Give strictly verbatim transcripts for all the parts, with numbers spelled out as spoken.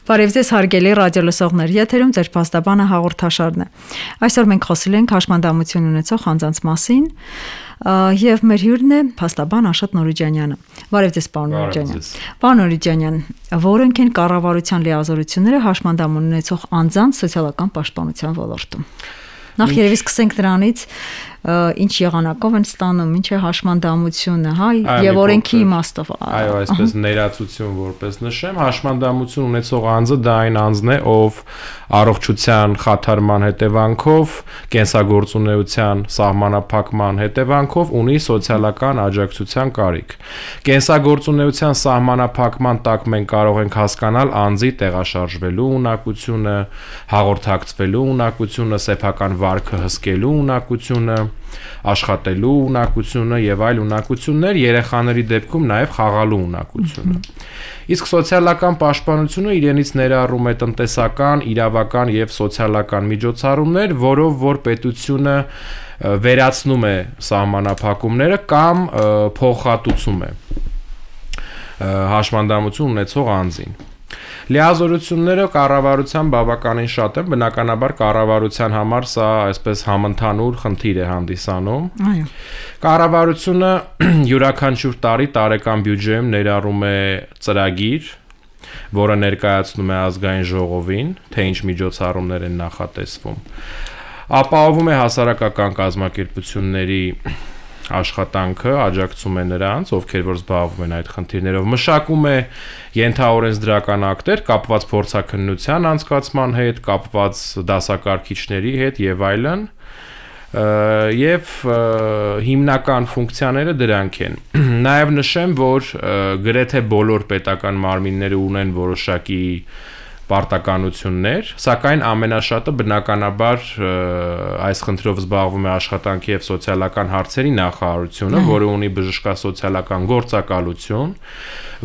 Բարև ձեզ հարգելի ռադիոլսողներ, եթերում ձեր փաստաբանը հաղորդաշարն է։ Այսօր մենք խոսել ենք հաշմանդամություն ունեցող անձանց մասին, եւ մեր հյուրն է փաստաբան Աշոտ Նորիջանյանը։ Բարև ձեզ, պարոն Նորիջանյան։ Պարոն Նորիջանյան, որոնք են կառավարության լիազորությունները հաշմանդամ ունեցող անձանց սոցիալական պաշտպանության ոլորտում։ Նախ երևի սկսենք դրանից, ինչ եղանակով են ստանում, ինչ է հաշմանդամությունը, հա, եւ օրենքի իմաստով։ Այո, այսպես ներածություն որպես նշեմ, հաշմանդամություն ունեցող անձը դա այն անձն է, ով առողջության խաթարման հետևանքով, կենսագործունեության սահմանափակման հետևանքով ունի սոցիալական աջակցության կարիք։ Կենսագործունեության սահմանափակման տակ մենք կարող ենք հասկանալ անձի տեղաշարժվելու ունակությունը, հաղորդակցվելու ունակությունը, սեփական վարքը հսկելու ունակությունը, աշխատելու ունակությունը եւ այլ ունակություններ, երեխաների դեպքում նաեւ խաղալու ունակությունը։ Իսկ սոցիալական պաշտպանությունը իրենից ներառում է տնտեսական, իրավական եւ սոցիալական միջոցառումներ, որով որ պետությունը վերացնում է սահմանափակումները կամ փոխհատուցում է հաշմանդամություն ունեցող անձին։ Լիազորությունները կառավարության բավականին շատ են, բնականաբար կառավարության համար սա այսպես համընդհանուր խնդիր է հանդիսանում։ Այո։ Կառավարությունը յուրաքանչյուր տարի տարեկան բյուջեում ներառում է ծրագիր, որը ներկայացնում է ազգային ժողովին, թե ինչ միջոցառումներ են նախատեսվում։ Ապահովում է հասարակական կազմակերպությունների աշխատանքը, աջակցում է նրանց, ովքեր որ զբաղվում են այդ խնդիրներով, մշակում է ենթաօրենսդրական ակտեր կապված փորձաքննության անցկացման հետ, կապված դասակարգիչների հետ եւ այլն, եւ հիմնական ֆունկցիաները դրանք են։ Նաեւ նշեմ, որ գրեթե բոլոր պետական մարմինները ունեն որոշակի պարտականություններ, սակայն ամենաշատը բնականաբար այս խնդրով զբաղվում է աշխատանքի եւ սոցիալական հարցերի նախարարությունը, որը ունի բժշկասոցիալական գործակալություն,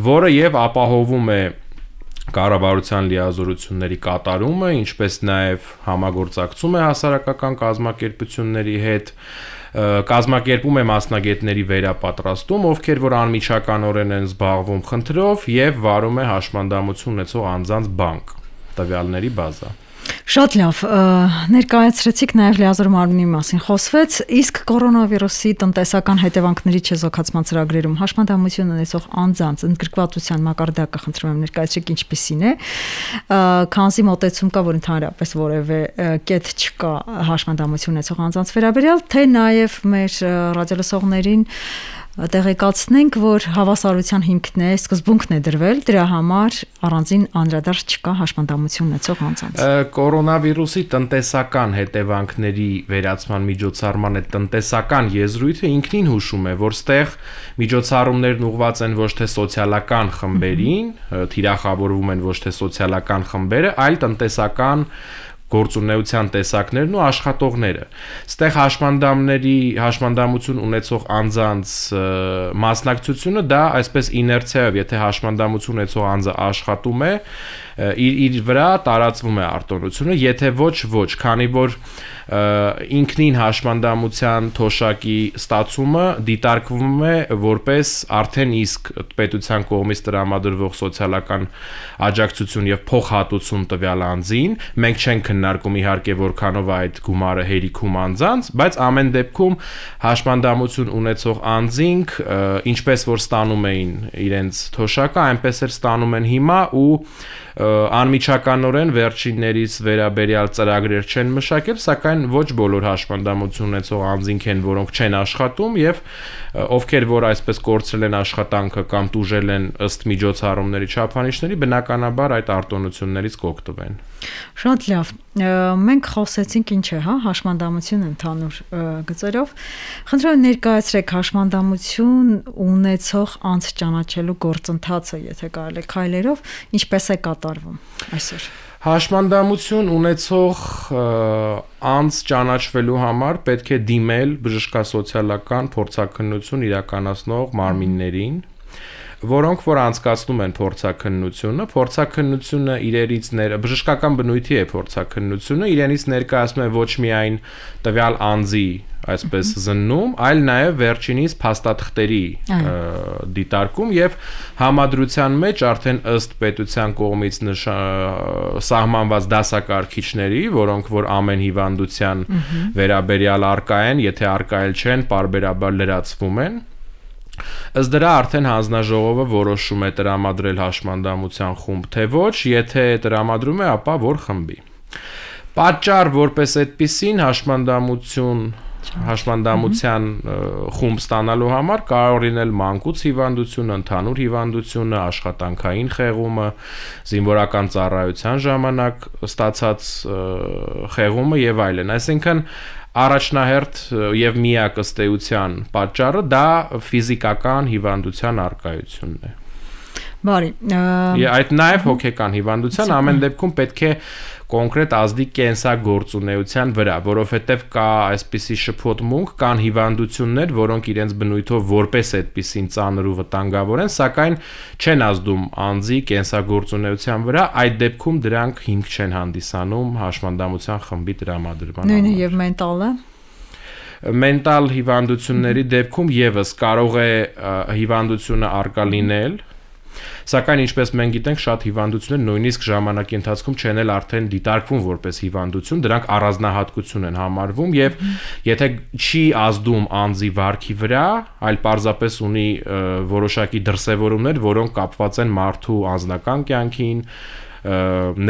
որը եւ ապահովում է կառավարության լիազորությունների կատարումը, ինչպես նաեւ համագործակցում է հասարակական կազմակերպությունների հետ, կազմակերպում է մասնագետների վերապատրաստում, ովքեր որ անմիջականորեն են զբաղվում խնդրով եւ վարում է հաշմանդամություն ունեցող անձանց բանկ, տվյալների բազա։ Շատ լավ, ներկայացրեցիք նաև լիազոր մարմնի մասին խոսվեց, իսկ կորոնավիրուսի տնտեսական հետևանքների չեզոքացման ծրագրերում հաշմանդամություն ունեցող անձանց ընդգրկվածության մակարդակը խնդրում եմ ներկայացրեք ինչպիսին է, քանզի մոտեցում կա, որ ընդհանրապես որևէ կետ չկա հաշմանդամություն ունեցող անձանց վերաբերյալ, թե նաև մեր ռադիոլսողներին տեղեկացնենք, որ հավասարության հիմքն է, սկզբունքն է դրվել, դրա համար առանձին անդրադարձ չկա հաշմանդամություն ունեցող անձանց։ Կորոնավիրուսի տնտեսական հետևանքների վերացման միջոցառման այդ տնտեսական եզրույթը ինքնին հուշում է, որ ստեղ միջոցառումներն ուղղված են ոչ թե սոցիալական խմբերին, թիրախավորվում են ոչ թե սոցիալական խմբերը, այլ տնտեսական գործունեության տեսակներն ու աշխատողները։ Ստեղ հաշմանդամների հաշմանդամություն ունեցող անձանց մասնակցությունը դա այսպես իներցիայով, եթե հաշմանդամություն ունեցող անձը աշխատում է, իր իր վրա տարածվում է արտոնությունը, եթե ոչ ոչ, քանի որ ինքնին հաշմանդամության թոշակի ստացումը դիտարկվում է որպես արդեն իսկ պետության կողմից տրամադրվող սոցիալական աջակցություն եւ փոխհատուցում տվյալ անձին, մենք չենք քննարկում իհարկե որքանով այդ գումարը հերիքում անձանց, բայց ամեն դեպքում հաշմանդամություն ունեցող անձինք ինչպես որ ստանում էին իրենց թոշակը, այնպես էլ ստանում են հիմա ու անմիջականորեն վերջիններից վերաբերյալ ծրագրեր չեն մշակել, սակայն ոչ բոլոր հաշմանդամություն ունեցող անձինք են, որոնք չեն աշխատում եւ ովքեր որ այսպես կորցրել են աշխատանքը կամ տուժել են ըստ միջոցառումների չափանիշների, բնականաբար այդ արտոնություններից կօգտվեն։ Շատ լավ։ Մենք խոսեցինք ինչ է, հա, հաշմանդամություն ընդհանուր գծերով։ Խնդրում եմ ներկայացրեք հաշմանդամություն ունեցող անձ ճանաչելու գործընթացը, եթե կարելի է քայլերով, ինչպես է կատարվում այսօր։ Հաշմանդամություն ունեցող անձ ճանաչվելու համար պետք է դիմել բժշկասոցիալական փորձաքննություն իրականացնող մարմիններին, որոնք որ անցկացնում են փորձաքննությունը, փորձաքննությունը իրենից ներ բժշկական բնույթի է փորձաքննությունը, իրենից ներկայացնում է ոչ միայն տվյալ անձի այսպես զննում, այլ նաև վերջինիս փաստաթղթերի դիտարկում եւ համադրության մեջ արդեն ըստ պետության կողմից սահմանված դասակարգիչների, որոնք որ ամեն հիվանդության վերաբերյալ արկա են, եթե արկայել չեն, պարբերաբար լրացվում են։ Ըստ դրա արդեն հանձնաժողովը որոշում է տրամադրել հաշմանդամության խումբ, թե ոչ, եթե տրամադրում է, ապա որ խմբի։ Պատճառ որպես այդպիսին հաշմանդամություն հաշմանդամության խումբ ստանալու համար կարող լինել մանկուց հիվանդությունը, ընդհանուր հիվանդությունը, աշխատանքային խեղումը, զինվորական ծառայության ժամանակ ստացած խեղումը եւ այլն։ Այսինքն առաջնահերթ եւ միակ ըստ էության պատճառը դա ֆիզիկական հիվանդության առկայությունն է։ Բարի։ Այդ նաև հոգեկան հիվանդության ամեն դեպքում պետք է կոնկրետ ազդի կենսագործունեության վրա, որովհետև կա այսպիսի շփոթմունք, կան հիվանդություններ, որոնք իրենց բնույթով որպես այդպիսին ծանր ու վտանգավոր են, սակայն չեն ազդում անձի կենսագործունեության վրա, այդ դեպքում դրանք հիմք չեն հանդիսանում հաշմանդամության խմբի տրամադրման համար։ Նույնը եւ մենտալը Մենտալ հիվանդությունների դեպքում եւս կարող է հիվանդությունը արկա լինել, սակայն ինչպես մենք գիտենք, շատ հիվանդություններ նույնիսկ ժամանակի ընթացքում չեն էլ արդեն դիտարկվում որպես հիվանդություն, դրանք առանձնահատկություն են համարվում եւ եթե չի ազդում անձի վարքի վրա, այլ պարզապես ունի որոշակի դրսևորումներ, որոնք կապված են մարդու անձնական կյանքին,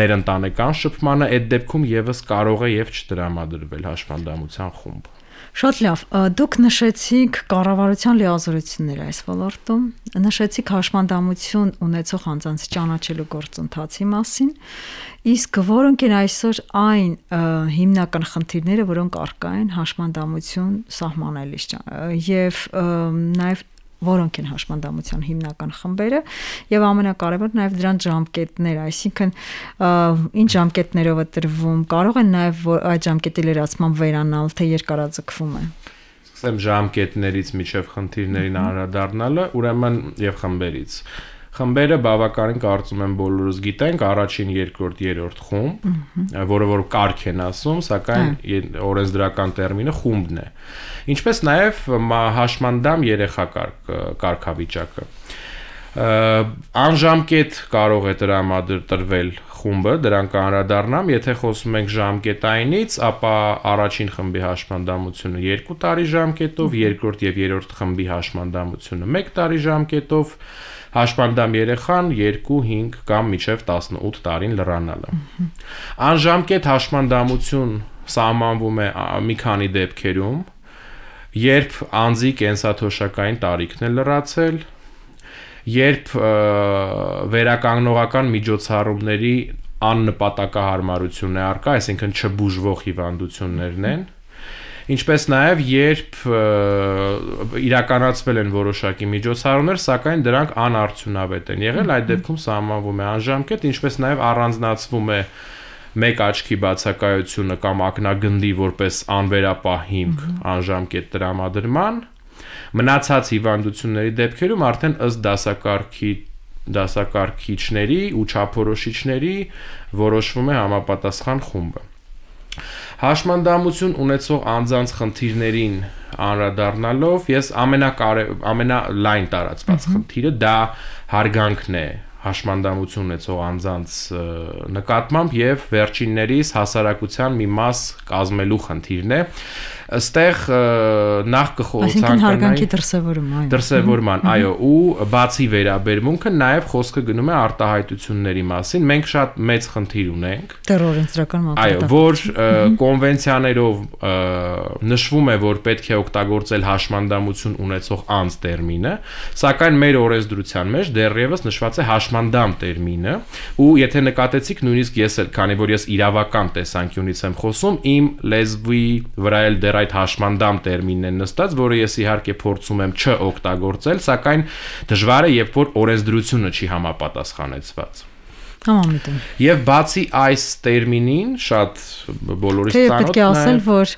ներընտանեկան շփմանը, այդ դեպքում եւս կարող է եւ չտրամադրվել հաշմանդամության խումբ։ Շատ լավ, դուք նշեցիք կառավարության լիազորությունները այս ոլորտում, նշեցիք հաշմանդամություն ունեցող անձանց ճանաչելու գործընթացի մասին, իսկ որոնք են այսօր այն հիմնական խնդիրները, որոնք առկա են հաշմանդամություն սահմանելիս եւ նաեւ որոնք են հաշմանդամության հիմնական խմբերը եւ ամենակարևորը նաեւ դրանց ժամկետները, այսինքն ինչ ժամկետներով է տրվում, կարող են նաեւ այդ ժամկետի լրացման վերանալ, թե երկարաձգվում է։ Սկսեմ ժամկետներից միջև խնդիրներին անդրադառնալը, ուրեմն եւ խմբերից։ Խմբերը բավականին կարծում եմ բոլորս գիտենք, առաջին, երկրորդ, երրորդ խումբ, որը որ կարգ են ասում, սակայն օրենսդրական տերմինը խումբն է։ Ինչպես նաև հաշմանդամ երեխա կարգավիճակը։ Անժամկետ կարող է տրամադրվել խումբը, դրան կանդրադառնամ, եթե խոսում ենք ժամկետայինից, ապա առաջին խմբի հաշմանդամությունը երկու տարի ժամկետով, երկրորդ եւ երրորդ խմբի հաշմանդամությունը մեկ տարի ժամկետով, հաշմանդամ երեխան երկու, հինգ կամ մինչև տասնութ տարին լրանալը։ Անժամկետ հաշմանդամություն սահմանվում է մի քանի դեպքերում, երբ անձի կենսաթոշակային տարիքն է լրացել, երբ վերականգնողական միջոցառումների աննպատակահարմարություն է առկա, այսինքն չբուժվող հիվանդություններն են, ինչպես նաև երբ իրականացվել են որոշակի միջոցառումներ, սակայն դրանք անարդյունավետ են եղել, այդ դեպքում սահմանվում է անժամկետ, ինչպես նաև առանձնացվում է մեկ աչքի բացակայությունը կամ ակնագնդի որպես անվերապահ հիմք անժամկետ տրամադրման, մնացած հիվանդությունների դեպքերում արդեն ըստ դասակարգի դասակարգիչների ու չափորոշիչների որոշվում է համապատասխան խումբը։ Հաշմանդամություն ունեցող անձանց խնդիրներին անդրադառնալով, ես ամենալայն տարածված խնդիրը դա հարգանքն է հաշմանդամություն ունեցող անձանց նկատմամբ եւ վերջիններիս հասարակության մի մաս կազմելու խնդիրն է։ Այստեղ նախ կխորհրդանկանայի հարգանքի դրսևորում, այո։ Դրսևորման, այո, ու բացի վերաբերմունքը նաև խոսքը գնում է արտահայտությունների մասին։ Մենք շատ մեծ խնդիր ունենք։ Դեռ օրենսդրական մակարդակը։ Այո, որ կոնվենցիաներով նշվում է, որ պետք է օգտագործել հաշմանդամություն ունեցող անձ տերմինը, սակայն մեր օրենսդրության մեջ դեռևս նշված է հաշմանդամ տերմինը, ու եթե նկատեցիք, նույնիսկ ես էլ, քանի որ ես իրավական տեսանկյունից եմ խոսում, իմ լեզվի վրա էլ դեռ այդ հաշմանդամ տերմինն է նստած, որը ես իհարկե փորձում եմ չօգտագործել, սակայն դժվար է, երբ որ օրենսդրությունը չի համապատասխանեցված։ Համամիտում։ Եվ բացի այս տերմինին շատ բոլորից ծանոթ է։ Պետք է ասել, որ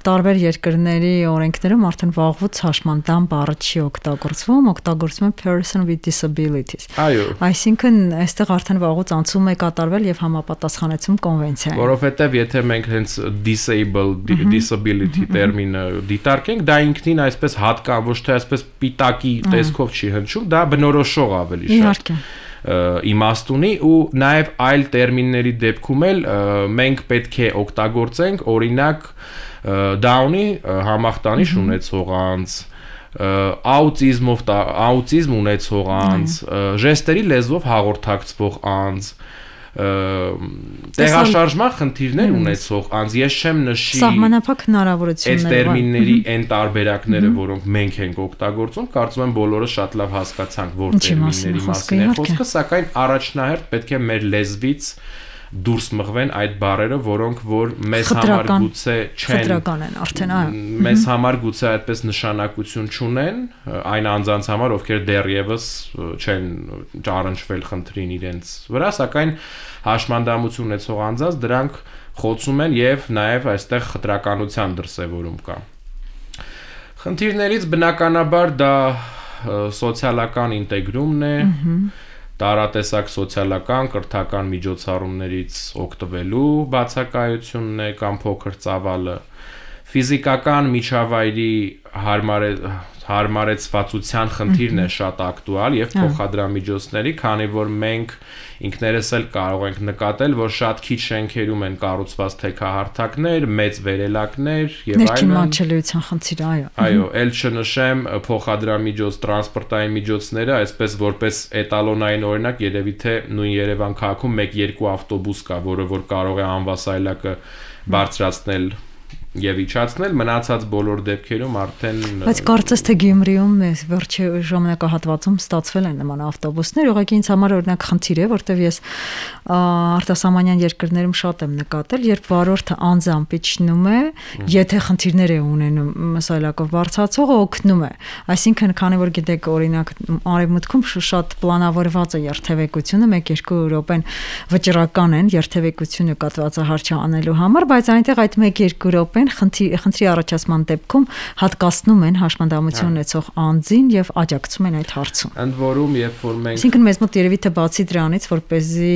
տարբեր երկրների օրենքներում արդեն վաղուց հաշմանդամ բառը չի օգտագործվում, օգտագործվում է person with disabilities։ Այո։ Այսինքն, այստեղ արդեն վաղուց անցում է կատարվել եւ համապատասխանեցում կոնվենցիային։ Որովհետեւ եթե մենք հենց disabled disability տերմինը դիտարկենք, դա ինքնին այսպես հատկա ոչ թե այսպես պիտակի տեսքով չի հնչում, դա բնորոշող ավելի շատ։ Իհարկե։ Իմաստ ունի ու նաև այլ տերմինների դեպքում էլ մենք պետք է օգտագործենք, օրինակ Down-ի համախտանիշ ունեցող անձ, աուտիզմով աուտիզմ ունեցող անձ, ժեստերի լեզվով հաղորդակցվող անձ, տեղաշարժման խնդիրներ ունեցող անձ, ես չեմ նշի սահմանափակ հնարավորություններ այդ տերմինների այն տարբերակները, որոնք մենք ենք օգտագործում, կարծում եմ բոլորը շատ լավ հասկացանք, որ տերմինների մասին է խոսքը, սակայն առաջնահերթ պետք է մեր լեզվից դուրս մղվեն այդ բառերը, որոնք որ մեզ համար գուցե չեն խտրական են արդեն, այո, մեզ համար գուցե այդպես նշանակություն չունեն այն անձանց համար, ովքեր դեռևս չեն ճառնչվել խնդրին իրենց վրա, սակայն հաշմանդամություն ունեցող անձանց դրանք խոցում են եւ նաեւ այստեղ խտրականության դրսեւորում կա։ Խնդիրներից բնականաբար դա սոցիալական ինտեգրումն է, տարատեսակ սոցիալական կրթական միջոցառումներից օգտվելու բացակայությունն է կամ փոքր ծավալը, ֆիզիկական միջավայրի հարմարեցվածության խնդիրն է շատ ակտուալ եւ փոխադրամիջոցների, քանի որ մենք ինքներս էլ կարող ենք նկատել, որ շատ քիչ շենքերում են կառուցված թեքահարթակներ, մեծ վերելակներ եւ այլն։ Ներքին մատչելիության խնդիր, այո։ Այո, ել չնշեմ փոխադրամիջոց տրանսպորտային միջոցները, այսպես որպես էտալոնային օրինակ, երևի թե նույն Երևան քաղաքում մեկ-երկու ավտոբուս կա, որը որ կարող է անվասայլակը բարձրացնել եւ իջացնել, մնացած բոլոր դեպքերում արդեն Բայց կարծես թե Գյումրիում վերջի ժամանակահատվածում ստացվել են նման ավտոբուսներ, ուղղակի ինձ համար օրինակ խնդիր է, որտեվ ես արտասահմանյան երկրներում շատ եմ նկատել, երբ վարորդը անձամբ իջնում է, եթե խնդիրներ է ունենում սայլակով բարձրացողը օգնում է։ Այսինքն, քանի որ գիտեք, օրինակ Արևմուտքում շատ պլանավորված է երթևեկությունը, մեկ-երկու րոպեն վճռական են երթևեկությունը կատվածահարճ անելու համար, բայց այնտեղ այդ մեկ-երկու րոպեն խնդրի առաջացման դեպքում հատկացնում են հաշմանդամություն ունեցող անձին եւ աջակցում են այդ հարցում։ Ընդ որում, երբ որ մենք Այսինքն մեզ մոտ երևի թե բացի դրանից, որպեսզի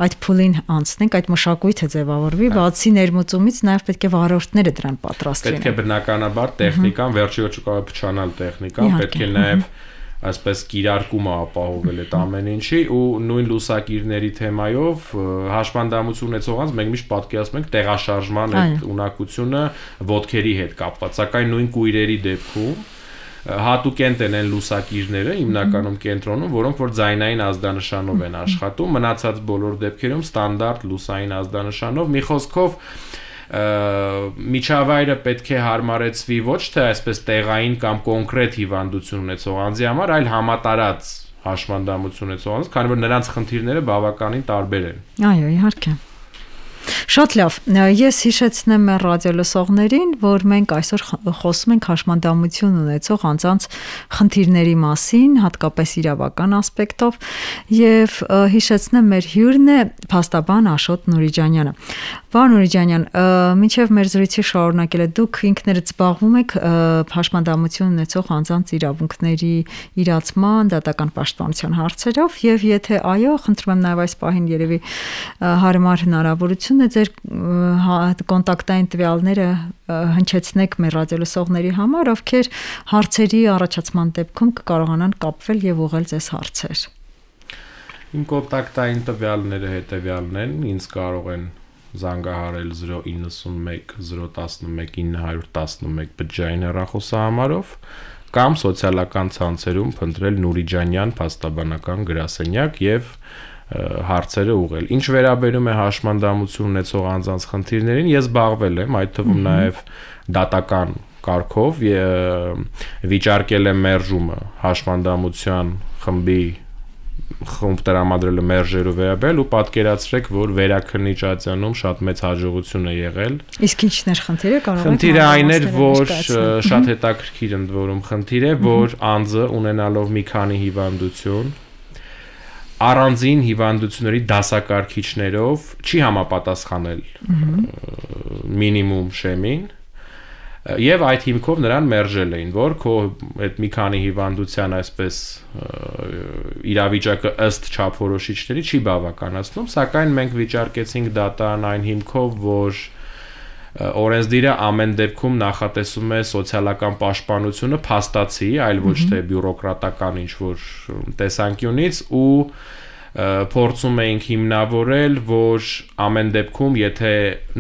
այդ փուլին անցնենք, այդ մշակույթը ձևավորվի, բացի ներմուծումից նաեւ պետք է վարորդները դրան պատրաստ լինեն։ Պետք է բնականաբար տեխնիկան, վերջի ոչ կարող է փչանալ տեխնիկան, պետք է նաեւ այսպես կիրարկումը ապահովել այդ ամեն ինչի ու նույն լուսակիրների թեմայով հաշմանդամություն ունեցող անձ մենք միշտ պատկերացնում ենք տեղաշարժման այդ ունակությունը ոտքերի հետ կապված, սակայն նույն կույրերի դեպքում հատուկենտ են այն լուսակիրները հիմնականում կենտրոնում, որոնք որ ձայնային ազդանշանով են աշխատում, մնացած բոլոր դեպքերում ստանդարտ լուսային ազդանշանով, մի խոսքով միջավայրը պետք է հարմարեցվի ոչ թե այսպես տեղային կամ կոնկրետ հիվանդություն ունեցող անձի համար, այլ համատարած հաշմանդամություն ունեցող անձ, քանի որ նրանց խնդիրները բավականին տարբեր են։ Այո, իհարկե։ Շատ լավ, ես հիշեցնեմ մեր ռադիոլսողներին, որ մենք այսօր խոսում ենք հաշմանդամություն ունեցող անձանց խնդիրների մասին, հատկապես իրավական ասպեկտով, եւ հիշեցնեմ մեր հյուրն է փաստաբան Աշոտ Նուրիջանյանը։ Պարոն Նուրիջանյան, մինչև մեր զրույցի շարունակելը դուք ինքներդ զբաղվում եք հաշմանդամություն ունեցող անձանց իրավունքների իրացման, դատական պաշտպանության հարցերով եւ եթե այո, խնդրում եմ նաեւ այս պահին երևի հարմար հնարավորություն է ձեր կոնտակտային տվյալները հնչեցնեք մեր ռադիոլսողների համար, ովքեր հարցերի առաջացման դեպքում կկարողանան կապվել եւ ուղղել ձեզ հարցեր։ Իմ կոնտակտային տվյալները հետեւյալն են, ինձ կարող են զանգահարել zero nine one zero one one nine one one բջջային հեռախոսահամարով կամ սոցիալական ցանցերում փնտրել Նուրիջանյան փաստաբանական գրասենյակ եւ հարցերը ուղղել։ Ինչ վերաբերում է հաշմանդամություն ունեցող անձանց խնդիրներին, ես զբաղվել եմ, այդ թվում նաև դատական կարգով վիճարկել եմ մերժումը հաշմանդամության խմբի խումբ տրամադրել մերժերով վերաբերել ու պատկերացրեք, որ վերաքննիչ ատյանում շատ մեծ հաջողություն է եղել։ Իսկ ինչն էր խնդիրը, կարող եք Խնդիրը այն էր, որ շատ հետաքրքիր ընդ որում խնդիր է, որ անձը ունենալով մի քանի հիվանդություն առանձին հիվանդությունների դասակարգիչներով չի համապատասխանել մինիմում շեմին եւ այդ հիմքով նրան մերժել էին, որ քո այդ մի քանի հիվանդության այսպես իրավիճակը ըստ չափորոշիչների չի բավականացնում, սակայն մենք վիճարկեցինք դատան այն հիմքով, որ օրենսդիրը ամեն դեպքում նախատեսում է սոցիալական պաշտպանությունը փաստացի, այլ ոչ թե բյուրոկրատական ինչ-որ տեսանկյունից ու փորձում էինք հիմնավորել, որ ամեն դեպքում, եթե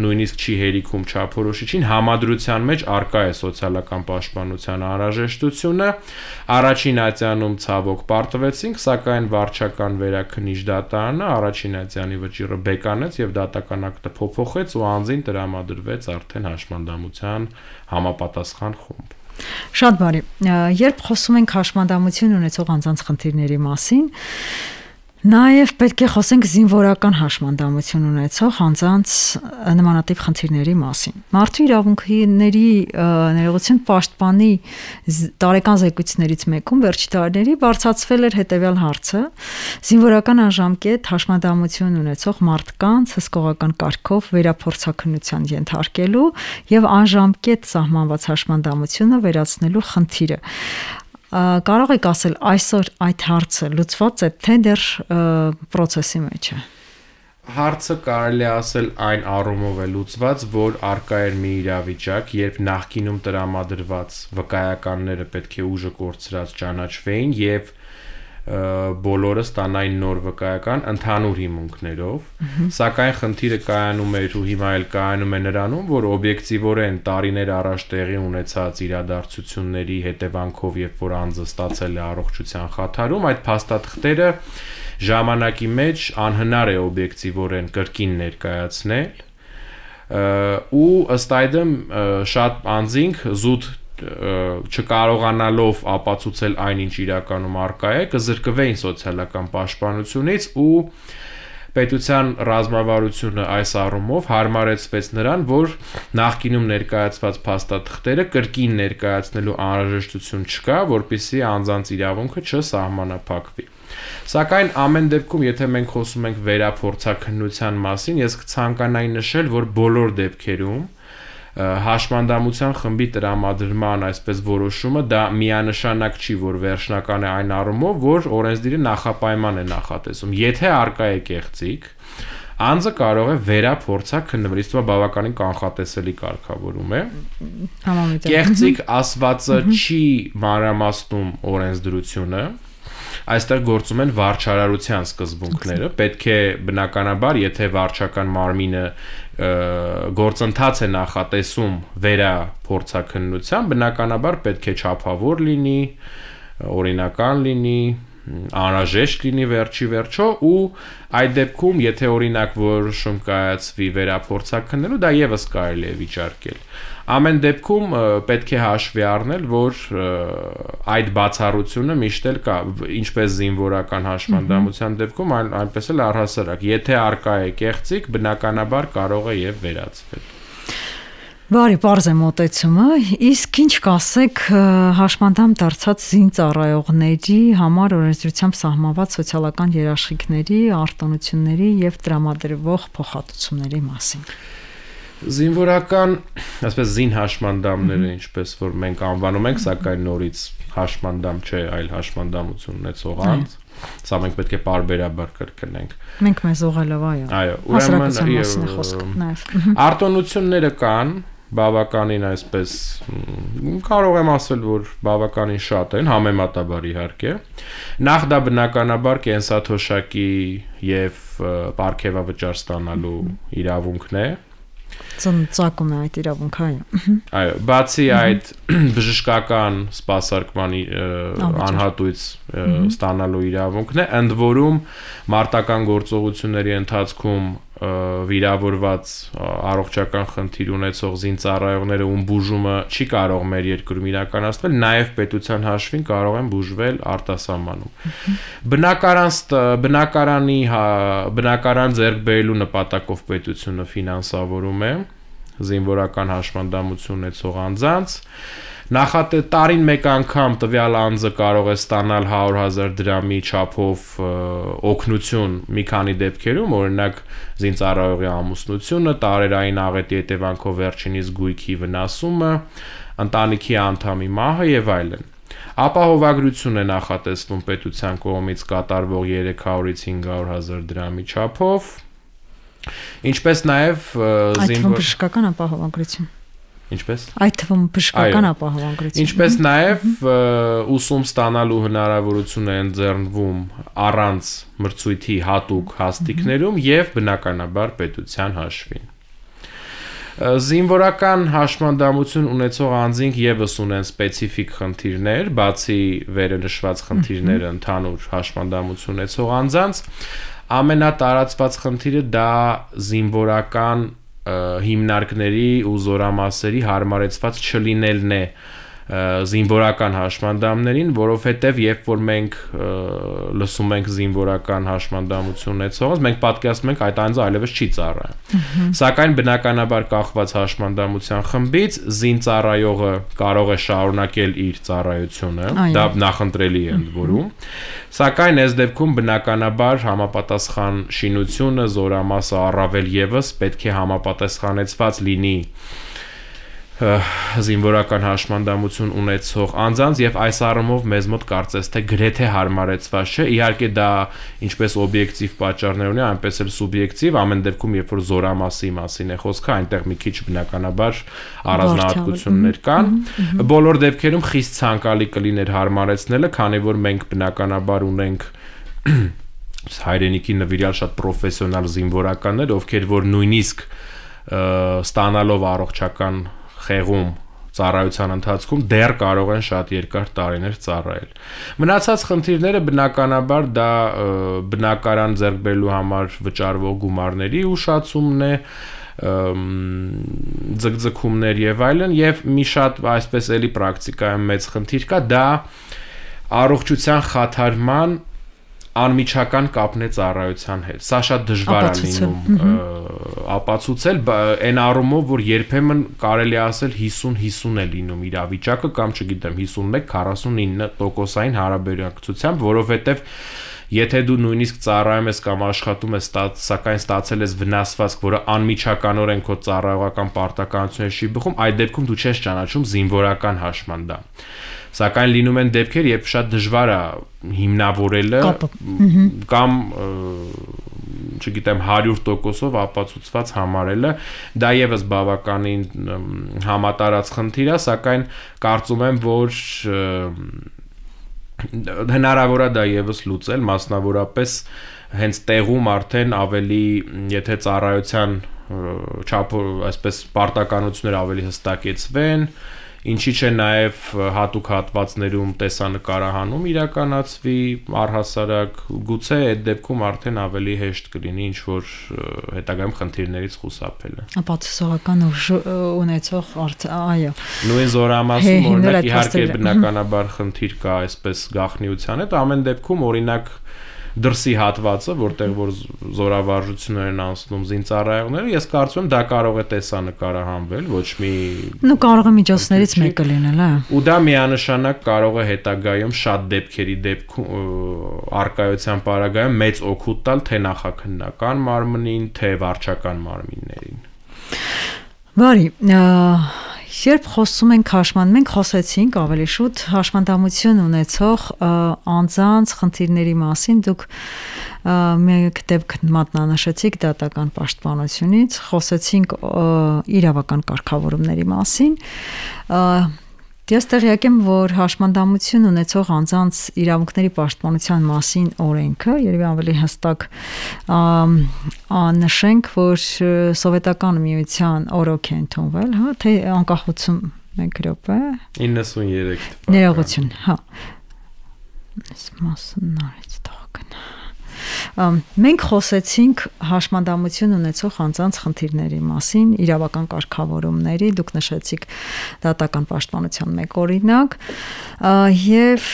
նույնիսկ չի հերիքում չափորոշիչին, համադրության մեջ առկա է սոցիալական պաշտպանության անհրաժեշտությունը, առաջին ատյանում ցավոք պարտվեցինք, սակայն վարչական վերաքննիչ դատարանը առաջին ատյանի վճիռը բեկանեց եւ դատական ակտը փոփոխեց ու անձին տրամադրվեց արդեն հաշմանդամության համապատասխան խումբ։ Շատ բարի։ Երբ խոսում ենք հաշմանդամություն ունեցող անձանց խնդիրների մասին, նաև պետք է խոսենք զինվորական հաշմանդամություն ունեցող անձանց նմանատիպ խնդիրների մասին։ Մարդու իրավունքների ներողություն պաշտպանի տարեկան զեկույցներից մեկում վերջի տարիների բարձրացվել էր հետևյալ հարցը. զինվորական անժամկետ հաշմանդամություն ունեցող մարդկանց հսկողական կարգով վերափորձաքննության ենթարկելու եւ անժամկետ սահմանված հաշմանդամությունը վերացնելու խնդիրը։ Կարող եք ասել այսօր այդ հարցը լուծված է, թե դեռ process-ի մեջ է։ Հարցը կարելի ասել այն առումով է լուծված, որ առկա էր մի իրավիճակ, երբ նախկինում տրամադրված վկայականները պետք է ուժը կորցրած ճանաչվեին եւ բոլորը ստանային նոր վկայական ընդհանուր հիմունքներով, սակայն խնդիրը կայանում էր ու հիմա էլ կայանում է նրանում, որ օբյեկտիվորեն տարիներ առաջ տեղի ունեցած իրադարձությունների հետևանքով, երբ որ անձը ստացել է առողջության խաթարում, այդ փաստաթղթերը ժամանակի մեջ անհնար է օբյեկտիվորեն կրկին ներկայացնել ու ըստ այդմ շատ անձինք զուտ չկարողանալով ապացուցել այնինչ իրականում առկա է, կզրկվեին սոցիալական պաշտպանությունից ու պետության ռազմավարությունը այս առումով հարմարեցվեց նրան, որ նախկինում ներկայացված փաստաթղթերը կրկին ներկայացնելու անհրաժեշտություն չկա, որպեսզի անձանց իրավունքը չսահմանափակվի։ Սակայն ամեն դեպքում, եթե մենք խոսում ենք վերափորձաքննության մասին, ես կցանկանայի նշել, որ բոլոր դեպքերում հաշմանդամության խմբի տրամադրման այսպես որոշումը դա միանշանակ չի, որ վերջնական է այն առումով, որ օրենսդիրը նախապայման է նախատեսում։ Եթե առկա է կեղծիք, անձը կարող է վերափորձաքննվել, իսկ դա բավականին կանխատեսելի կարգավորում է։ Կեղծիք ասվածը չի մանրամասնում օրենսդրությունը, այստեղ գործում են վարչարարության սկզբունքները, պետք է բնականաբար, եթե վարչական մարմինը գործընթաց է նախատեսում վերափորձաքննության, բնականաբար պետք է չափավոր լինի, օրինական լինի, անհրաժեշտ լինի վերջի վերջո ու այդ դեպքում, եթե օրինակ որոշում կայացվի վերափորձաքննելու, դա եւս կարելի է վիճարկել։ Ամեն դեպքում պետք է հաշվի առնել, որ այդ բացառությունը միշտ էլ կա, ինչպես զինվորական հաշմանդամության դեպքում, այնպես էլ առհասարակ, եթե առկա է կեղծիք, բնականաբար կարող է եւ վերացվել։ Բարի, պարզ է մոտեցումը, իսկ ինչ կասեք հաշմանդամ դարձած զինծառայողների համար օրենսդրությամբ սահմանված սոցիալական երաշխիքների, արտոնությունների եւ տրամադրվող փոխհատուցումների մասին։ Զինվորական, այսպես զին հաշմանդամները, ինչպես որ մենք անվանում ենք, սակայն նորից հաշմանդամ չէ, այլ հաշմանդամություն ունեցող անձ, սա մենք պետք է պարբերաբար կրկնենք։ Մենք մեզ ուղղելով, այո։ Այո, ուրեմն արտոնությունները կան, բավականին այսպես կարող եմ ասել, որ բավականին շատ են, համեմատաբար իհարկե։ Նախ դա բնականաբար կենսաթոշակի եւ պարգևավճար ստանալու իրավունքն է։ Ծնծակում է այդ իրավունքը, այո։ Այո, բացի այդ բժշկական սպասարկման անհատույց ստանալու իրավունքն է, ընդ որում մարտական գործողությունների ընթացքում վիրավորված առողջական խնդիր ունեցող զինծառայողները ում բուժումը չի կարող մեր երկրում իրականացվել, նաև պետության հաշվին կարող են բուժվել արտասահմանում։ Բնակարան բնակարանի բնակարան ձեռք բերելու նպատակով պետությունը ֆինանսավորում է զինվորական հաշմանդամություն ունեցող անձանց, Նախատե տարին մեկ անգամ տվյալ անձը կարող է ստանալ հարյուր հազար դրամի չափով օգնություն մի քանի դեպքերում, օրինակ զինծառայողի ամուսնությունը, տարերային աղետի հետևանքով վերջինիս գույքի վնասումը, ընտանիքի անդամի մահը եւ այլն։ Ապահովագրություն է նախատեսվում պետության կողմից կատարվող երեք հարյուրից հինգ հարյուր հազար դրամի չափով, ինչպես նաեւ զինվոր բժշկական ապահովագրություն։ Ինչպես Այդ թվում բժշկական ապահովագրություն։ Ինչպես նաև ուսում ստանալու հնարավորություն է ընձեռնվում առանց մրցույթի հատուկ հաստիկներում եւ բնականաբար պետության հաշվին։ Զինվորական հաշմանդամություն ունեցող անձինք եւս ունեն սպეციფიկ խնդիրներ, բացի վերը նշված խնդիրները ընդհանուր հաշմանդամություն ունեցող անձանց, ամենատարածված խնդիրը դա զինվորական հիմնարկների ու զորամասերի հարմարեցված չլինելն է զինվորական հաշմանդամներին, որովհետև երբ որ մենք լսում ենք զինվորական հաշմանդամություն ունեցողից, մենք պատկերացնում ենք այդ անձը այլևս չի ծառայում։ Սակայն բնականաբար կախված հաշմանդամության խմբից զինծառայողը կարող է շարունակել իր ծառայությունը, դա նախընտրելի է ընդ որում, սակայն այս դեպքում բնականաբար համապատասխան շինությունը, զորամասը առավել եւս պետք է համապատասխանեցված լինի զինվորական հաշմանդամություն ունեցող անձանց եւ այս առումով մեզ մոտ կարծես թե գրեթե հարմարեցված չէ, իհարկե դա ինչպես օբյեկտիվ պատճառներ ունի, այնպես էլ սուբյեկտիվ, ամեն դեպքում երբ որ զորամասի մասին է խոսքը, այնտեղ մի քիչ բնականաբար առանձնահատկություններ կան, բոլոր դեպքերում խիստ ցանկալի կլիներ հարմարեցնելը, քանի որ մենք բնականաբար ունենք հայրենիքի նվիրյալ շատ պրոֆեսիոնալ զինվորականներ, ովքեր որ նույնիսկ ստանալով առողջական խեղում ծառայության ընթացքում դեռ կարող են շատ երկար տարիներ ծառայել։ Մնացած խնդիրները բնականաբար դա բնակարան ձեռք բերելու համար վճարվող գումարների ուշացումն է, ձգձգումներ եւ այլն, եւ մի շատ այսպես էլի պրակտիկայում մեծ խնդիր կա, դա առողջության խաթարման անմիջական կապն է ծառայության հետ։ Սա շատ դժվար է լինում ապացուցել, այն առումով, որ երբեմն կարելի ասել հիսուն հիսուն է լինում իրավիճակը կամ չգիտեմ հիսունմեկ քառասունինը տոկոսային հարաբերակցությամբ, որովհետև եթե դու նույնիսկ ծառայում ես կամ աշխատում ես, սակայն ստացել ես վնասվածք, որը անմիջականորեն քո ծառայողական պարտականությունների չի բխում, այդ դեպքում դու չես ճանաչում զինվորական հաշմանդամ։ Սակայն լինում են դեպքեր, երբ շատ դժվար է հիմնավորելը կամ չգիտեմ հարյուր տոկոսով ապացուցված համարելը, դա եւս բավականին համատարած խնդիր է, սակայն կարծում եմ, որ հնարավոր է դա եւս լուծել, մասնավորապես հենց տեղում արդեն ավելի, եթե ծառայության չափը, այսպես պարտականությունները ավելի հստակեցվեն, ինչի՞ չէ նաև հատուկ հատվածներում տեսանկարահանում իրականացվի առհասարակ, գուցե այդ դեպքում արդեն ավելի հեշտ կլինի ինչ որ հետագայում խնդիրներից խուսափելը։ Ապացուցողական ուժ ունեցող, այո։ Նույն զորամասում օրինակ իհարկե բնականաբար խնդիր կա այսպես գաղտնիության հետ, ամեն դեպքում օրինակ դրսի հատվածը, որտեղ որ զորավարժություններ են անցնում զինծառայողները, ես կարծում եմ դա կարող է տեսանկարահանվել, ոչ մի Նու կարող է միջոցներից մեկը լինել, հա։ Ու դա միանշանակ կարող է հետագայում շատ դեպքերի դեպքում արկայության պարագայում մեծ օգուտ տալ թե նախաքննական մարմնին, թե վարչական մարմիններին։ Բարի, երբ խոսում ենք հաշման, մենք խոսեցինք ավելի շուտ հաշմանդամություն ունեցող անձանց խնդիրների մասին, դուք մեկ դեպք մատնանշեցիք դատական պաշտպանությունից, խոսեցինք իրավական կարգավորումների մասին, Ես տեղյակ եմ, որ հաշմանդամություն ունեցող անձանց իրավունքների պաշտպանության մասին օրենքը, երևի ավելի հստակ նշենք, որ սովետական միության օրոք է ընդունվել, հա, թե անկախություն մեկ րոպե իննսուններեք ներողություն, հա։ Այս մասն արեց տողքն։ Մենք խոսեցինք հաշմանդամություն ունեցող անձանց խնդիրների մասին, իրավական կարգավորումների, դուք նշեցիք դատական պաշտպանության մեկ օրինակ, եւ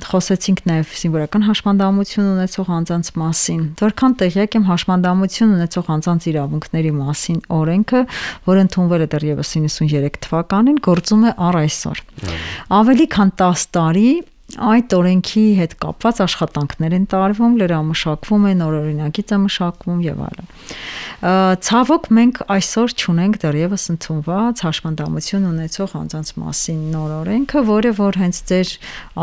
խոսեցինք նաեւ զինվորական հաշմանդամություն ունեցող անձանց մասին։ Որքան տեղյակ եմ, հաշմանդամություն ունեցող անձանց իրավունքների մասին օրենքը, որը ընդունվել է դեռևս իննսուններեք թվականին, գործում է առ այսօր։ Ավելի քան տասը տարի այդ օրենքի հետ կապված աշխատանքներ են տարվում, լրամշակվում են, օրօրինակից է մշակվում եւ այլն։ Ցավոք մենք այսօր չունենք դեռևս ընդունված հաշմանդամություն ունեցող անձանց մասին նոր օրենքը, որը որ հենց ձեր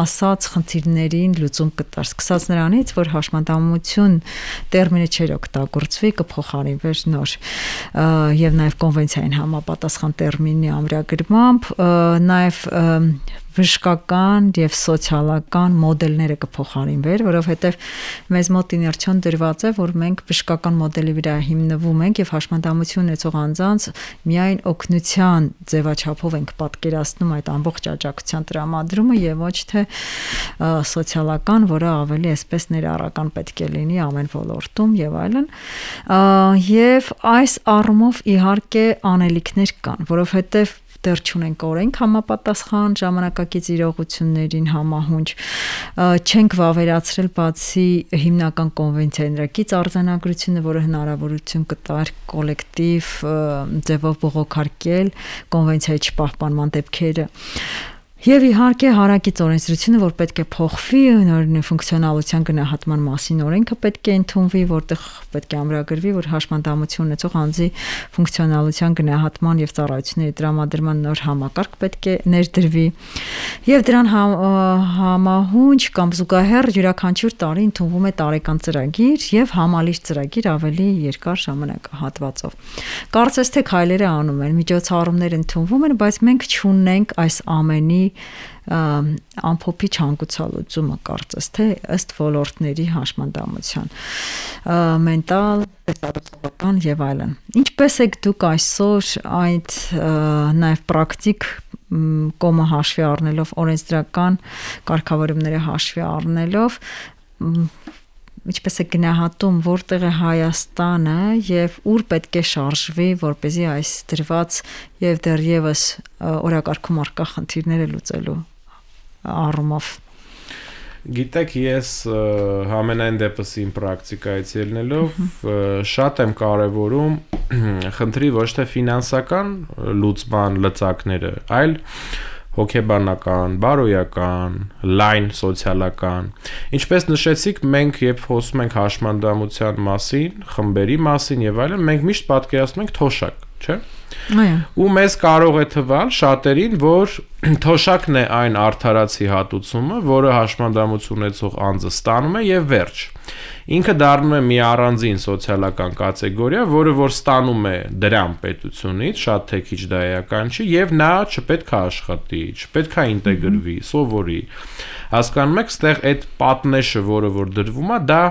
ասած խնդիրներին լուծում կտար, սկսած նրանից, որ հաշմանդամություն տերմինը չէր օգտագործվի, կփոխարինվեր նոր եւ նաեւ կոնվենցիային համապատասխան տերմինի ամրագրմամբ, նաեւ բժշկական եւ սոցիալական մոդելները կփոխարինվեր, որովհետեւ մեզ մոտ իներցիոն դրված է, որ մենք բժշկական մոդելի վրա հիմնվում ենք եւ հաշմանդամություն ունեցող անձանց միայն օգնության ձևաչափով ենք պատկերացնում այդ ամբողջ աջակցության տրամադրումը եւ ոչ թե սոցիալական, որը ավելի այսպես ներառական պետք է լինի ամեն ոլորտում եւ այլն։ Եվ այս առումով իհարկե անելիքներ կան, որովհետեւ դեռ չունենք օրենք համապատասխան ժամանակակից իրողություններին համահունչ, չենք վավերացրել բացի հիմնական կոնվենցիաներից արձանագրությունը, որը հնարավորություն կտար կոլեկտիվ ձևով բողոքարկել կոնվենցիայի չպահպանման դեպքերը։ Եվ իհարկե հարակից օրենսդրությունը, որ պետք է փոխվի, նոր ֆունկցիոնալության գնահատման մասին օրենքը պետք է ընդունվի, որտեղ պետք է ամրագրվի, որ հաշմանդամություն ունեցող անձի ֆունկցիոնալության գնահատման եւ ծառայությունների տրամադրման նոր համակարգ պետք է ներդրվի։ Եվ դրան համահունչ կամ զուգահեռ յուրաքանչյուր տարի ընդունվում է տարեկան ծրագիր եւ համալիր ծրագիր ավելի երկար ժամանակահատվածով։ Կարծես թե քայլերը անում են, միջոցառումներ ընդունվում են, բայց մենք չունենք այս ամենի ամփոփի չհանգուցալուծումը կարծես թե ըստ ոլորտների հաշմանդամության մենտալ, տեսարոցական եւ այլն։ Ինչպես եք դուք այսօր այդ նաեւ պրակտիկ կոմը հաշվի առնելով, օրենսդրական կարգավորումները հաշվի առնելով, ինչպես է գնահատում, որտեղ է Հայաստանը եւ ուր պետք է շարժվի, որպեսզի այս դրված եւ դեռևս օրակարգում առկա խնդիրները լուծելու առումով։ Գիտեք, ես համենայն դեպս իմ պրակտիկայից ելնելով շատ եմ կարևորում խնդրի ոչ թե ֆինանսական լուծման լծակները, այլ հոգեբանական, բարոյական, լայն սոցիալական։ Ինչպես նշեցիք, մենք երբ խոսում ենք հաշմանդամության մասին, խմբերի մասին եւ այլն, մենք միշտ պատկերացնում ենք թոշակ, չէ՞։ Այո։ Ու մեզ կարող է թվալ շատերին, որ թոշակն է այն արդարացի հատուցումը, որը հաշմանդամություն ունեցող անձը ստանում է եւ վերջ։ Ինքը դառնում է մի առանձին սոցիալական կատեգորիա, որը որ ստանում է դրամ պետությունից, շատ թե քիչ դա էական չի, եւ նա չպետք է աշխատի, չպետք է ինտեգրվի, սովորի։ Հասկանում եք, ստեղ այդ պատնեշը, որը որ դրվում է, դա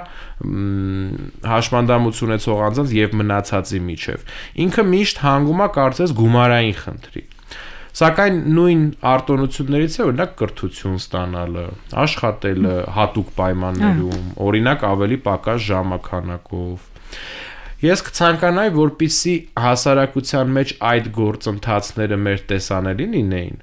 հաշմանդամություն ունեցող անձանց եւ մնացածի միջեւ։ Ինքը միշտ հանգում է կարծես գումարային խնդրի։ Սակայն նույն արտոնություններից է օրինակ կրթություն ստանալը, աշխատելը հատուկ պայմաններում, օրինակ ավելի պակաս ժամանականակով։ Ես կցանկանայի, որպեսզի հասարակության մեջ այդ գործընթացները մեր տեսանելի լինեին։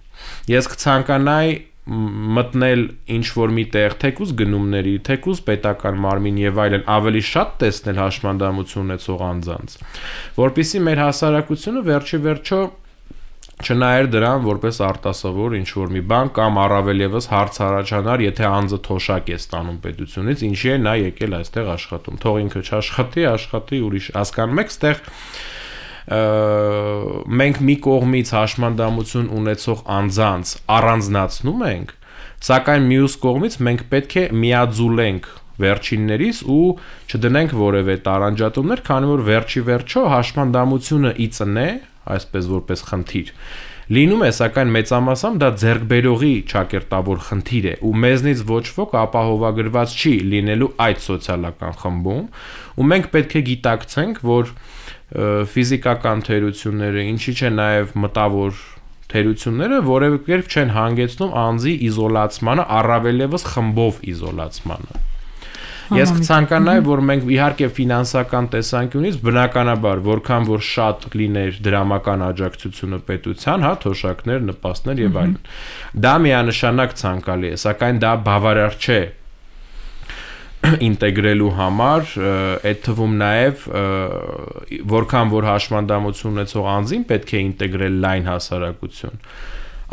Ես կցանկանայի մտնել ինչ որ մի տեղ, թեկուզ գնումների, թեկուզ պետական մարմին եւ այլն ավելի շատ տեսնել հաշմանդամություն ունեցող անձանց, որպեսզի մեր հասարակությունը վերջի վերջո չնայեր դրան որպես արտասովոր ինչ որ մի բան կամ առավել եւս հարց առաջանար, եթե անձը թոշակ է ստանում պետությունից, ինչի է նա եկել այստեղ աշխատում։ Թող ինքը չաշխատի, աշխատի ուրիշ։ Հասկանում եք, այստեղ մենք մի կողմից հաշմանդամություն ունեցող անձանց առանձնացնում ենք, սակայն մյուս կողմից մենք պետք է միաձուլենք վերջիններից ու չդնենք որևէ տարանջատումներ, քանի որ վերջի վերջո հաշմանդամությունը ի ծնե, այսպես որպես խնդիր լինում է, սակայն մեծամասամբ դա ձեռքբերողի ճակերտավոր խնդիր է ու մեզնից ոչ ոք ապահովագրված չի լինելու այդ սոցիալական խմբում ու մենք պետք է գիտակցենք, որ ֆիզիկական թերությունները, ինչի՞ չէ նաև մտավոր թերությունները որևէ կերպ չեն հանգեցնում անձի իզոլացմանը, առավել ևս խմբով իզոլացմանը։ Ես կցանկանայի, որ մենք իհարկե ֆինանսական տեսանկյունից բնականաբար, որքան որ շատ լիներ դրամական աջակցությունը պետության, հա, թոշակներ, նպաստներ եւ այլն։ Դա միանշանակ ցանկալի է, սակայն դա բավարար չէ ինտեգրելու համար, այդ թվում նաև որքան որ հաշմանդամություն ունեցող անձին պետք է ինտեգրել լայն հասարակություն,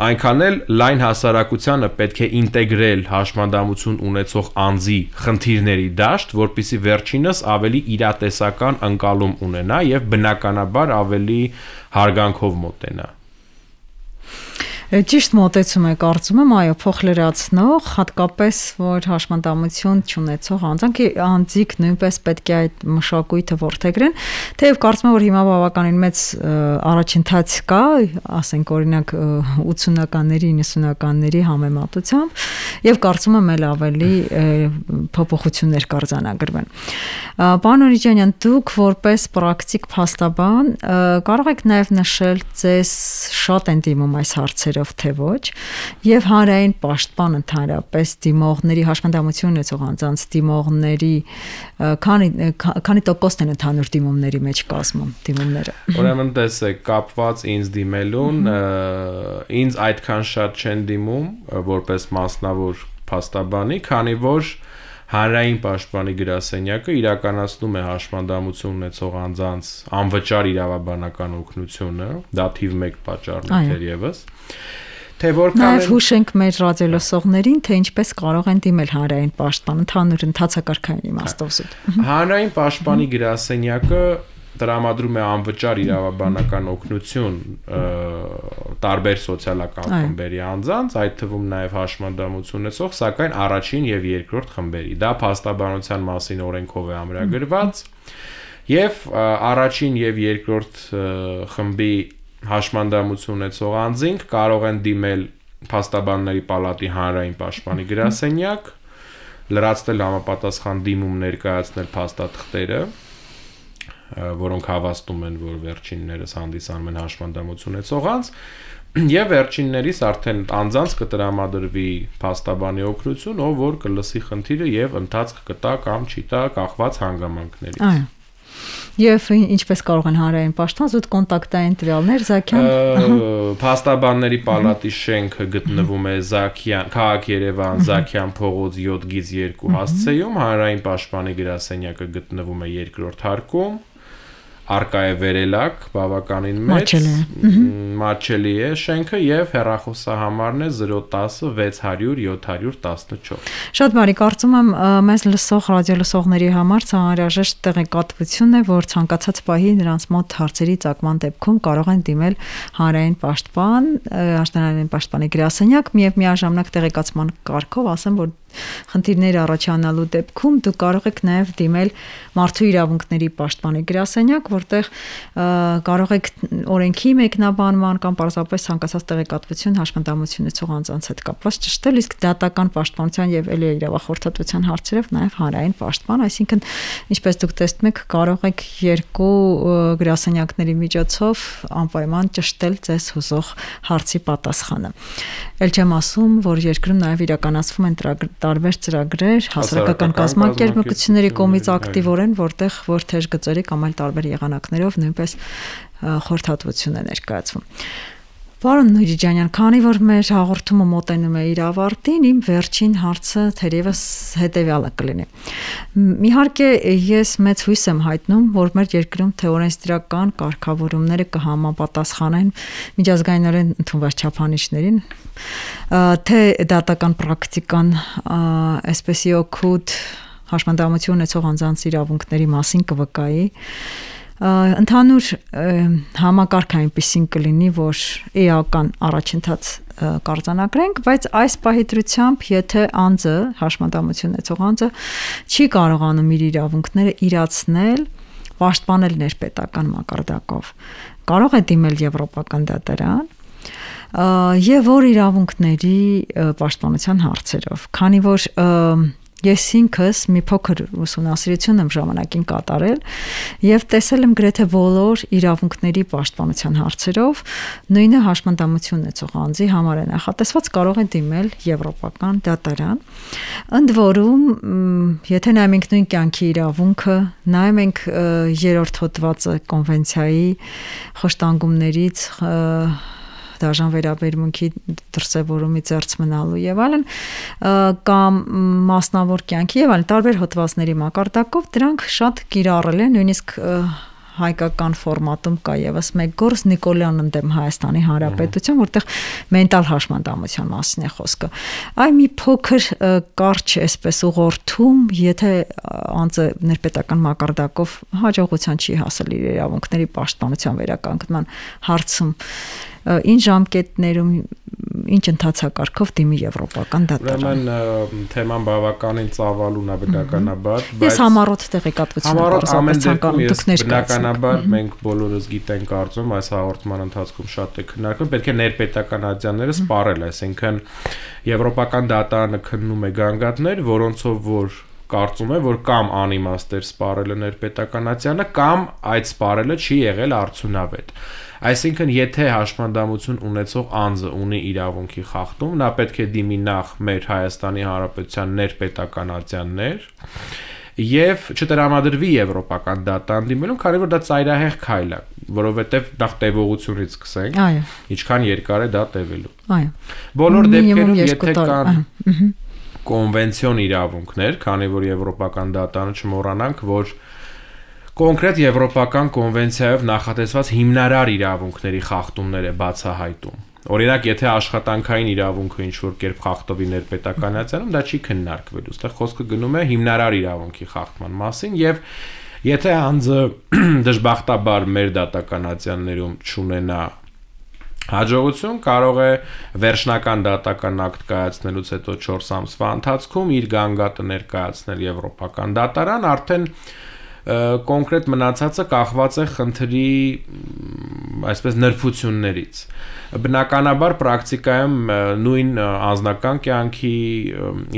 այնքան էլ լայն հասարակությանը պետք է ինտեգրել հաշմանդամություն ունեցող անձի խնդիրների դաշտ, որպեսզի վերջինս ավելի իրատեսական ընկալում ունենա եւ բնականաբար ավելի հարգանքով մոտենա։ Ճիշտ մոտեցում է, կարծում եմ, այո, փոխլրացնող, հատկապես որ հաշմանդամություն չունեցող անձանք անձիկ նույնպես պետք է այդ մշակույթը որդեգրեն, թեև կարծում եմ, որ հիմա բավականին մեծ առաջընթաց կա, ասենք օրինակ ութսունականների, իննսունականների համեմատությամբ, եւ կարծում եմ էլ ավելի փոփոխություններ կարձանագրվեն։ Պարոն Օրիջանյան, դուք որպես պրակտիկ փաստաբան կարող եք նաեւ նշել ձեզ շատ են դիմում այս հարցերը թե ոչ, եւ հանրային պաշտպան ընդհանրապես դիմողների հաշմանդամություն ունեցող անձանց դիմողների քանի քանի տոկոսն են ընդհանուր դիմումների մեջ կազմում դիմումները։ Ուրեմն տեսեք, կապված ինձ դիմելուն, ինձ այդքան շատ չեն դիմում որպես մասնավոր փաստաբանի, քանի որ հանրային պաշտպանի գրասենյակը իրականացնում է հաշմանդամություն ունեցող անձանց անվճար իրավաբանական օգնությունը, դա թիվ մեկ պատճառն է թերևս։ Թե որքան Նաև հուշենք մեր ռադիոլսողներին, թե ինչպես կարող են դիմել հանրային պաշտպան ընդհանուր ընթացակարգային իմաստով զուտ։ Հանրային պաշտպանի գրասենյակը տրամադրում է անվճար իրավաբանական օգնություն տարբեր սոցիալական խմբերի անձանց, այդ թվում նաև հաշմանդամություն ունեցող, սակայն առաջին եւ երկրորդ խմբերի։ Դա փաստաբանության մասին օրենքով է ամրագրված, եւ առաջին եւ երկրորդ խմբի հաշմանդամություն ունեցող անձինք կարող են դիմել փաստաբանների պալատի հանրային պաշտպանի գրասենյակ, լրացնել համապատասխան դիմում ներկայացնել փաստաթղթերը, որոնք հավաստում են, որ վերջիններս հանդիսանում են հաշմանդամություն ունեցող անձ, եւ վերջիններիս արդեն անձանց կտրամադրվի փաստաբանի օգնություն, ով որ կլսի խնդիրը եւ ընթացք կտա կամ չի տա կախված հանգամանքներից։ Այո։ Եվ ինչպես կարող են հանրային պաշտպան զուտ կոնտակտային տվյալներ Զաքյան Փաստաբանների պալատի շենքը գտնվում է Զաքյան, Քաղաք Երևան, Զաքյան փողոց յոթ գիծ երկու հասցեում, հանրային պաշտպանի գրասենյակը գտնվում է երկրորդ հարկում, Արկա է վերելակ, բավականին մեծ, մատչելի է շենքը եւ հեռախոսահամարն է զրո տասը վեց հարյուր յոթ հարյուր տասնչորս։ Շատ բարի, կարծում եմ մեզ լսող ռադիոլսողների համար անհրաժեշտ տեղեկատվություն է, որ ցանկացած պահի նրանց մոտ հարցերի ծագման դեպքում կարող են դիմել հանրային պաշտպան, հանրային պաշտպանի գրասենյակ, եւ միաժամանակ տեղեկացման կարգով ասեմ, որ խնդիրներ առաջանալու դեպքում դուք կարող եք նաև դիմել մարդու իրավունքների պաշտպանի գրասենյակ, որտեղ կարող եք օրենքի մեկնաբանման կամ պարզապես ցանկացած տեղեկատվություն հաշմանդամություն ունեցող անձանց հետ կապված ճշտել, իսկ դատական պաշտպանության եւ էլի իրավախորհրդատվության հարցերով նաև հանրային պաշտպան, այսինքն ինչպես դուք տեսնում եք, կարող եք երկու գրասենյակների միջոցով անպայման ճշտել ձեզ հուզող հարցի պատասխանը։ Էլ չեմ ասում, որ երկրում նաև իրականացվում են տարբեր ծրագրեր հասարակական կազմակերպությունների կողմից ակտիվորեն, որտեղ որ թեժ գծերի կամ այլ տարբեր եղանակներով նույնպես խորհրդատվություն է ներկայացվում։ Պարոն Օրիջանյան, քանի որ մեր հաղորդումը մոտենում է իր ավարտին, իմ վերջին հարցը թերևս հետևյալը կլինի։ Իհարկե, ես մեծ հույս եմ հայտնում, որ մեր երկրում թե օրենսդրական կարգավորումները կհամապատասխանեն միջազգայինորեն ընդունված չափանիշներին, թե դատական պրակտիկան այսպեսի օգուտ հաշմանդամություն ունեցող անձանց իրավունքների մասին կվկայի, ընդհանուր համակարգ այնպեսին կլինի, որ էական առաջընթաց կարձանագրենք, բայց այս պահի դրությամբ, եթե անձը, հաշմանդամություն ունեցող անձը չի կարողանում իր իրավունքները իրացնել, պաշտպանել ներպետական մակարդակով, կարող է դիմել Եվրոպական դատարան եւ որ իրավունքների պաշտպանության հարցերով, քանի որ Ես ինքս մի փոքր ուսումնասիրություն եմ ժամանակին կատարել եւ տեսել եմ գրեթե բոլոր իրավունքների պաշտպանության հարցերով նույնը հաշմանդամություն ունեցող անձի համար է նախատեսված կարող է դիմել եվրոպական դատարան։ Ընդ որում, եթե նայենք նույն կյանքի իրավունքը, նայենք երրորդ հոդվածը կոնվենցիայի խոշտանգումներից դաժան վերաբերմունքի դրսևորումի ծերծ մնալու եւ այլն կամ մասնավոր կյանքի եւ այլն տարբեր հոդվածների մակարդակով դրանք շատ կիրառել են, նույնիսկ հայկական ֆորմատում կա եւս մեկ գործ Նիկոլյան ընդդեմ Հայաստանի Հանրապետություն, որտեղ մենտալ հաշմանդամության մասին է խոսքը։ Այ մի փոքր կարճ էսպես ուղղորդում, եթե անձը ներպետական մակարդակով հաջողության չի հասել իր իրավունքների պաշտպանության վերականգնման հարցում, ինչ ժամկետներում, ինչ ընթացակարգով դիմի եվրոպական դատարան։ Ուրեմն թեման բավականին ծավալուն է բնականաբար, բայց ես համառոտ տեղեկատվություն եմ ցանկանում բնականաբար մենք բոլորս գիտենք կարծում այս հաղորդման ընթացքում շատ է քննարկվում, պետք է ներպետական ադյանները սպառել, այսինքն եվրոպական դատարանը քննում է գանգատներ, որոնցով որ կարծում է, որ կամ անիմաստ էր սպառելը ներպետական ադյանը, կամ այդ սպառելը չի եղել արդյունավետ։ Այսինքն, եթե հաշմանդամություն ունեցող անձը ունի իրավունքի խախտում, նա պետք է դիմի նախ մեր Հայաստանի Հանրապետության ներպետական ատյաններ եւ չտրամադրվի եվրոպական դատարան դիմելուն, քանի որ դա ծայրահեղ քայլ է, որովհետեւ նախ տևողությունից սկսենք, ինչքան երկար է դա տևելու։ Այո։ Բոլոր դեպքերում, եթե կան կոնվենցիոն իրավունքներ, քանի որ եվրոպական դատարանը չմոռանանք, որ կոնկրետ եվրոպական կոնվենցիայով նախատեսված հիմնարար իրավունքների խախտումներ է բացահայտում։ Օրինակ, եթե աշխատանքային իրավունքը ինչ-որ կերպ խախտվի ներպետականացիանում, դա չի քննարկվելու։ Այստեղ խոսքը գնում է հիմնարար իրավունքի խախտման մասին եւ եթե անձը դժբախտաբար մեր դատականացիաներում չունենա հաջողություն, կարող է վերջնական դատական ակտ կայացնելուց հետո չորս ամսվա ընթացքում իր գանգատը ներկայացնել եվրոպական դատարան, արդեն կոնկրետ մնացածը կախված է խնդրի այսպես նրբություններից։ Բնականաբար պրակտիկայում նույն անձնական կյանքի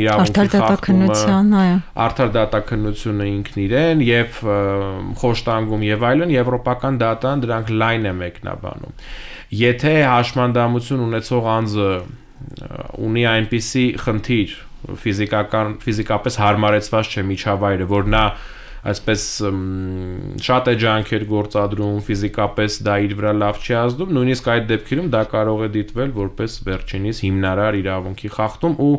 իրավունքի խախտումը, արդար դատաքննությունը ինքն իրեն եւ խոշտանգում եւ այլն եվրոպական դատարան դրանք լայն է մեկնաբանում։ Եթե հաշմանդամություն ունեցող անձը ունի այնպիսի խնդիր, ֆիզիկական ֆիզիկապես հարմարեցված չէ միջավայրը, որ նա այսպես շատ է ջանքեր գործադրում, ֆիզիկապես դա իր վրա լավ չի ազդում, նույնիսկ այդ դեպքերում դա կարող է դիտվել որպես վերջինիս հիմնարար իրավունքի խախտում ու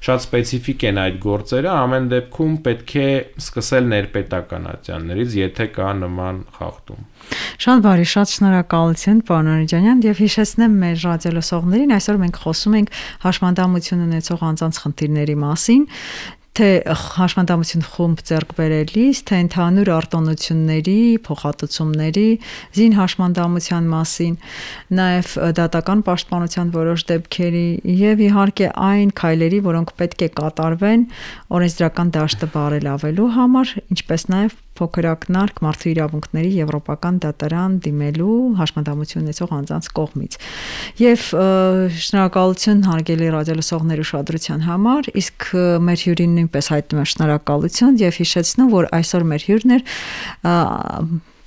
շատ սպეციფიկ են այդ գործերը, ամեն դեպքում պետք է սկսել ներպետական ատյաններից, եթե կա նման խախտում։ Շատ բարի, շատ շնորհակալություն, պարոն Անիջանյան, եւ հիշեցնեմ մեր ռադիոլսողներին, այսօր մենք խոսում ենք հաշմանդամություն ունեցող անձանց խնդիրների մասին, թե հաշմանդամություն խումբ ձեռք բերելիս, թե ընդհանուր արտոնությունների, փոխհատուցումների, զին հաշմանդամության մասին, նաև դատական պաշտպանության որոշ դեպքերի եւ իհարկե այն քայլերի, որոնք պետք է կատարվեն օրենսդրական դաշտը բարելավելու համար, ինչպես նաև փոքրակնարկ մարդու իրավունքների եվրոպական դատարան դիմելու հաշմանդամություն ունեցող անձանց կողմից։ Եվ շնորհակալություն հարգելի ռադիոլսողների ուշադրության համար, իսկ մեր հյուրին նույնպես հայտնում եմ շնորհակալություն եւ հիշեցնում, որ այսօր մեր հյուրն էր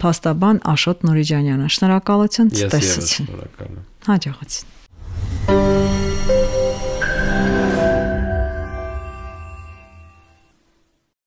փաստաբան Աշոտ Նուրիջանյանը։ Շնորհակալություն, ցտեսություն։ Հաջողություն։